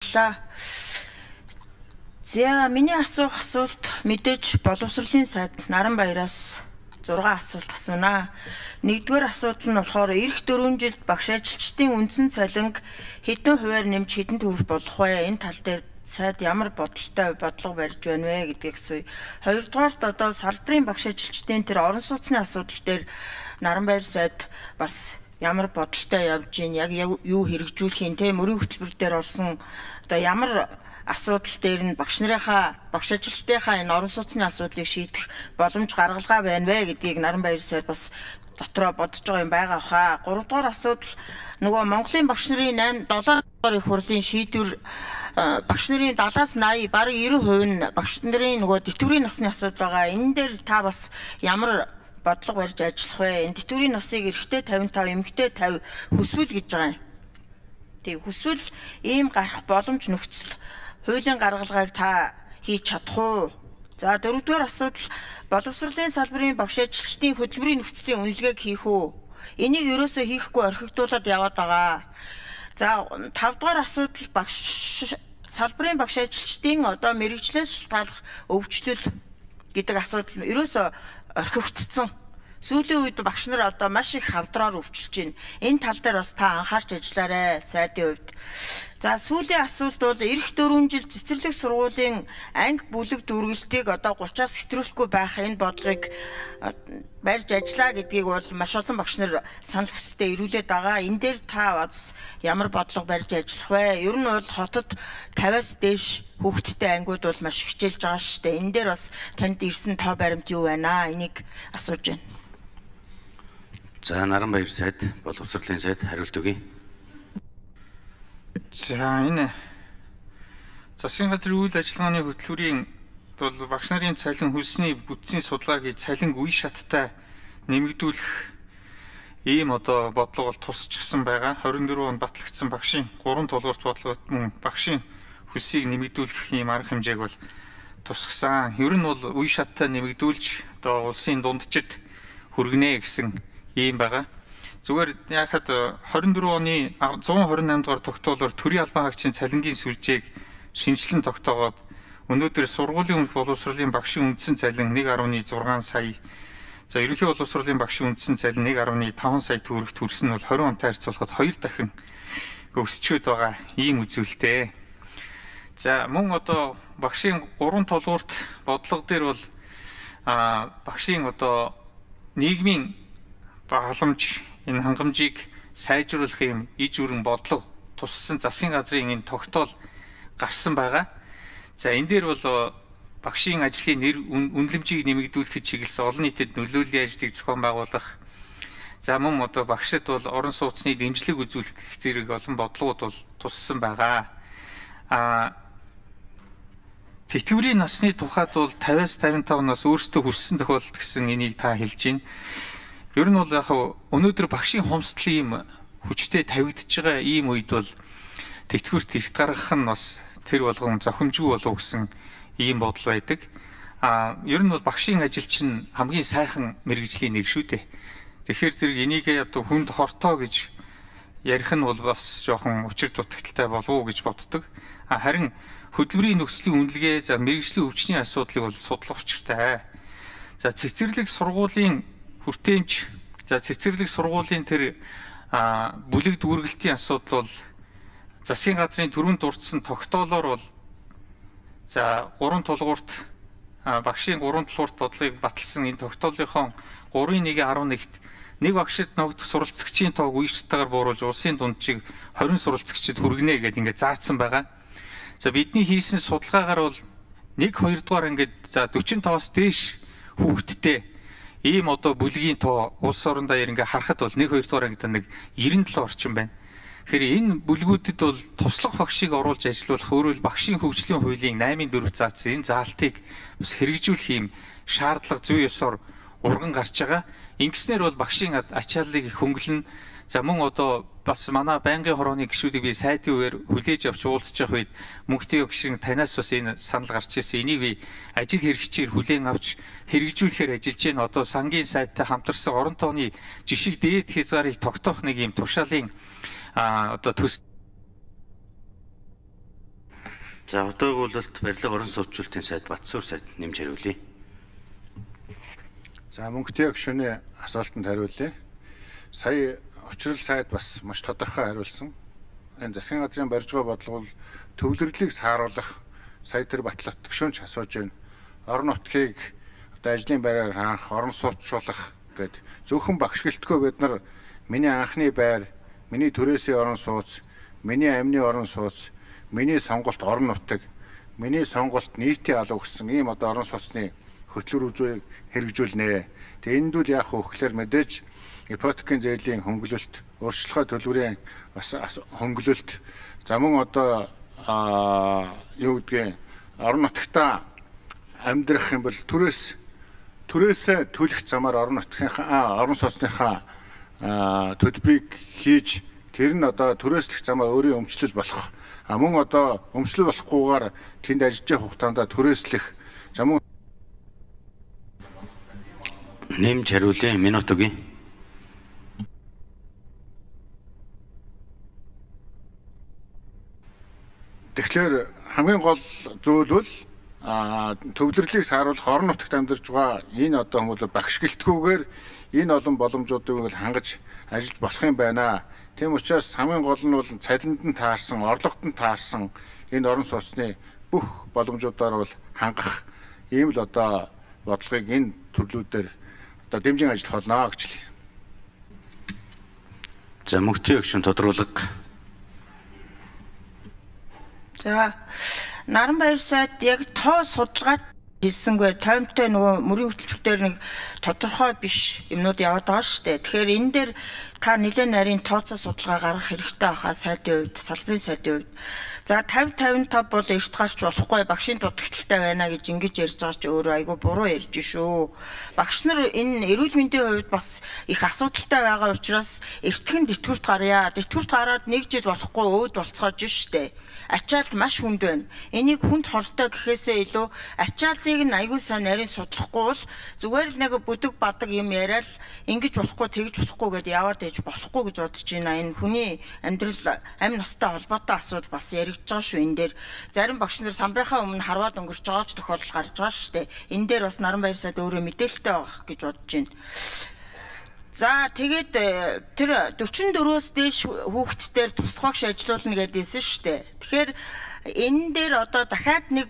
баярлалаа. За миний асуулт мэдээж боловсролын сайд Наранбаяраас 6 асуулт асуунаа. Нэгдүгээр асуудал нь болохоор эх 4 жилд багш ажилчдын үндсэн цалинг хэдэн хувиар нэмж хэдэн төгрөг болох вэ? Энэ тал дээр сайд ямар бодлого барьж байна вэ гэдгийг асууя. Хоёрдугаарт одоо салбарын багш ажилчдын тэр орон сууцны асуудал дээр Наранбаяр сайд бас ямар бодолтой явж гин, яг юу хэрэгжүүлэх юм те, мөрийн хөтөлбөр дээр орсон одоо ямар асуудал дээр нь багш ажилчдынхаа энэ орон сууцны асуудлыг шийдэх боломж гаргалгаа байна вэ гэдгийг Наранбаяр сайд бас дотроо бодож байгаа юм байгаа хаа. 3 дугаар асуудал нөгөө Монголын багш нарын 7 дугаар их хурлын шийдвэр багш нарын 70-аас 80 бараг 90% нь багш нарын нөгөө тэтгэврийн насны асуудал байгаа. Энэ дээр та бас ямар бодлого барьж ажиллах вэ? Энэ тэтгэврийн насыг эрэгтэй 55, эмэгтэй 50 хүсвэл гэж байгаа юм. Тэг хүсвэл ийм гарах боломж нөхцөл хуулийн гаргалгааг та хийж чадах уу? За 4-р асуудал боловсролын салбарын багш ажилчдын хөтөлбөрийн нөхцөлийн үнэлгээг хийх үү? Энийг ерөөсөө хийхгүй орхигдуулаад яваад байгаа. За 5-р асуудал салбарын багш ажилчдын одоо мэргэжлээс шалтгааллах өвчлөл гэдэг асуудал ерөөсөө орхигдсон. Сүүлийн үед багш нар одоо маш их хавдраар өвчлөж байна. Энэ тал дээр бас та анхаарч ажиллаарай сайдын хувьд. За сүүлийн асуулт бол эх 4 жил цэцэрлэг сургуулийн анги бүлэг дүүргэлтийг одоо 30-аас хэтрүүлэхгүй байх энэ бодлогыг барьж ажиллаа гэдгийг бол маш олон багш нар санал хүсэлтэд ирүүлээд байгаа. Энэ дээр та бас ямар бодлого барьж ажиллах вэ? Ер нь бол хотод 50-аас дээш хүүхэдтэй ангиуд бол маш хичээлж байгаа шүү дээ. Энэ дээр бас танд ирсэн тоо баримт юу байна? Энийг асууж байна. За Наранбаяр сайд, боловсролын сайд хариулт өгье. За энэ засгийн газрын үйл ажиллагааны хөтөлбөрийн бол багш нарын цалин хөлсний бүтцийн судалгааг цалин үе шаттай нэмэгдүүлэх ийм одоо бодлого бол тусчихсан байгаа. 24 он батлагдсан багшийн 3 толгорт бодлогот мөн багшийн хөлсийг нэмэгдүүлэх ийм арга хэмжээг бол тусгасан. Ер нь бол үе шаттай нэмэгдүүлж одоо улсын дунджид хүргэнэ гэсэн ийм байгаа. Зүгээр яхад 24 оны 128 дугаар тогтоолоор төрийн албан хаагчийн цалингийн сүлжээг шинжилэн тогтоогоод өнөөдөр сургуулийн өмнөх боловсролын багшийн үндсэн цалин 1.6 сая. За ерөнхий боловсролын багшийн үндсэн цалин 1.5 сая төгрөгт хүрсэн нь бол 20 онтой харьцуулахад 2 дахин өсчөөд байгаа ийм үзүүлэлтээ. За мөн одоо багшийн 3 толгуурт бодлого дээр бол багшийн одоо нийгмийн халамж энэ хангамжийг сайжруулах юм иж өрн бодлого туссан засгийн газрын энэ тогтоол гарсан байгаа. За энэ дээр бол багшийн ажлын нэр үнэлэмжийг нэмэгдүүлэхэд чиглэсэн олон нийтэд нөлөөллийн ажлыг зохион байгуулах. За мөн одоо багшид бол орон сууцны дэмжлэг үзүүлэх зэрэг олон бодлогууд бол туссан байгаа. Тэтгэврийн насны тухайд бол 50-аас 55 нас өөрсдөө хүссэн тохиолдолд гэсэн энийг та хэлж байна. Ер нь бол яг өнөөдөр багшийн хомсдол ийм хүчтэй тавигдж байгаа ийм үед бол тэтгэврт эрт гаргах нь бас тэр болгон зохимжгүй болов гэсэн ийм бодол байдаг. Ер нь бол багшийн ажил чинь хамгийн сайхан мэргэжлийн нэг шүү дээ. Тэгэхээр зэрэг энийг одоо хүнд хортоо гэж ярих нь бол бас жоохон учир дутагдaltaй болов уу гэж боддог. Харин хөдөлмөрийн нөхцөлийн үнэлгээ за мэргэжлийн өвчний асуудлыг бол судлах учиртай. За цэцэрлэг сургуулийн хүртээмж за цэцэрлэг сургуулийн тэр бүлэг дүүргэлтийн асуудал бол засгийн газрын түрүүнд дурдсан тогтоолоор бол за 3 тулгуурт багшийн 3 тулгуурт бодлогыг баталсан энэ тогтоолынхон 3.1.11-т нэг багшид ногдох суралцагчийн тоог үе шатаагаар бууруулж улсын дунджийг 20 суралцагчид хүргэнэ гэдээ ингээд заасан байгаа. За бидний хийсэн судалгаагаар бол 1-2 дугаар ингээд за 45-аас дээш хүүхэдтэй ийм одоо бүлгийн тоо улс орон даяар ингээ харахад бол 1-2 дугаар ангид нэг 97 орчим байна. Тэгэхээр энэ бүлгүүдэд бол туслах багшийг оруулж ажилуулах өөрөөр багшийн хөгжлийн хуулийн 8-4 заасан энэ заалтыг бас хэрэгжүүлэх юм шаардлага зүй ёсоор урган гарч байгаа. Ингэснээр бол багшийн ачааллыг их хөнгөлнө. За мөн одоо бас манай байнгын хорооны гишүүдийг би сайдын үеэр хүлээж авч уулзж явах үед мөнхтэй гишрэн танаас бас энэ санал гарч ирсэн. Энийг би ажил хэрэгчээр хүлээн авч хэрэгжүүлэхээр ажиллаж байна. Одоо сангийн сайттай хамтарсан орон тооны жишг дээд хязгаарыг тогтоох нэг юм тушаалын одоо төс За одоо өгүүлэлт барилга орон сууцчлалтын сайд Батсуур сайд нэмж хариулъя. За мөнгөтэй гишүүний асуултанд хариулъя. Сая учрал сайд бас маш тодорхой хариулсан. Энэ засгийн газрын барьжгаа бодлого төвлөрлөлийг сааруулах сая тэр Батлавт гишүүнч асууж байна. Орон нутгийг одоо ажлын байраар хаанх, орон сууцчлуулах гэд зөвхөн багш гэлтгөө бид нар миний анхны байр, миний төрөөсийн орон сууц, миний амны орон сууц, миний сонголт орон нутаг, миний сонголт нийтийн алуу гэсэн ийм одоо орон сууцны хөтлөр үзүүийг хэрэгжүүлнэ. Тэгээ энд үл яах вэ гэхээр мэдээж ипотекийн зээлийн хөнгөлөлт, өөрчлөлтөө төлбөрийн бас хөнгөлөлт, за мөн одоо юу гэдгийг орон нутагтаа амьдрах юм бол төрөөсөө төлөх замаар орон нутгийнхаа орон сууцныхаа төлбөрийг хийж тэр нь одоо төрөөслөх замаар өөрийн өмчлөл болох. Мөн одоо өмчлөл болохгүйгээр тэнд ажиллаж хугацаанд төрөөслөх за мөн нэмж хариулъя. Минут өгье. Тэгэхээр хамгийн гол зүйл бол төвлөрлөлийг сааруулах орон нутагт амьдарч байгаа энэ одоо хүмүүс багш гэлтгүүгээр энэ олон боломжуудыг хангаж ажиллаж болох юм байна. Тийм учраас хамгийн гол нь бол цалинд нь таарсан, орлогод нь таарсан энэ орон сууцны бүх боломжуудаар бол хангах ийм л одоо бодлогыг энэ төрлүүдээр одоо дэмжин ажиллах болно гэж хэлье. За мөнгөтэй гишүүн тодруулга. За Наранбаяр сайд яг тоо судалгаа хийсэнгүй тоймтой нөгөө мөрийн хөтөлбөр нэг тодорхой биш юмнууд яваад байгаа шүү дээ. Тэгэхээр энэ дээр та нэлээд нарийн тооцоо судалгаа гаргах хэрэгтэй байхаа сайдын хувьд, салбарын сайдын хувьд. За 50-55 бол эрт гарч болохгүй багшийн дутагдaltaй байна гэж ингэж ярьж байгаа ч өөрөө айгүй буруу ярьж шүү. Багш нар энэ эрүүл мэндийн хувьд бас их асуудалтай байгаа учраас эртхэн тэтгэврт гарья. Тэтгэврт гараад нэг жил болохгүй өөд болцоож штэ. Ачаал маш хүнд байна. Энийг хүнд хортой гэхээсээ илүү ачааллыг нь айгүй сайн нарийн судлахгүй бол зүгээр л нэг бүдэг бадаг юм яриад ингэж болохгүй тэгж болохгүй гэдээ яваад ээж болохгүй гэж бодож байна. Энэ хүний амьдрал амь настай холбоотой асуудал бас яригдж байгаа шүү энэ дээр. Зарим багш нар самбарынхаа өмнө харваад өнгөрч байгаа ч тохиолдол гарч байгаа шүү дээ. Энэ дээр бас Наранбаяр сайд өөрөө мэдээлэлтэй байх гэж бодож байна. За тэгээд тэр 44-өөс дээш хүүхдтээр тусдах багш ажилуулна гэдээсэн шүү дээ. Тэгэхээр энэ дээр одоо дахиад нэг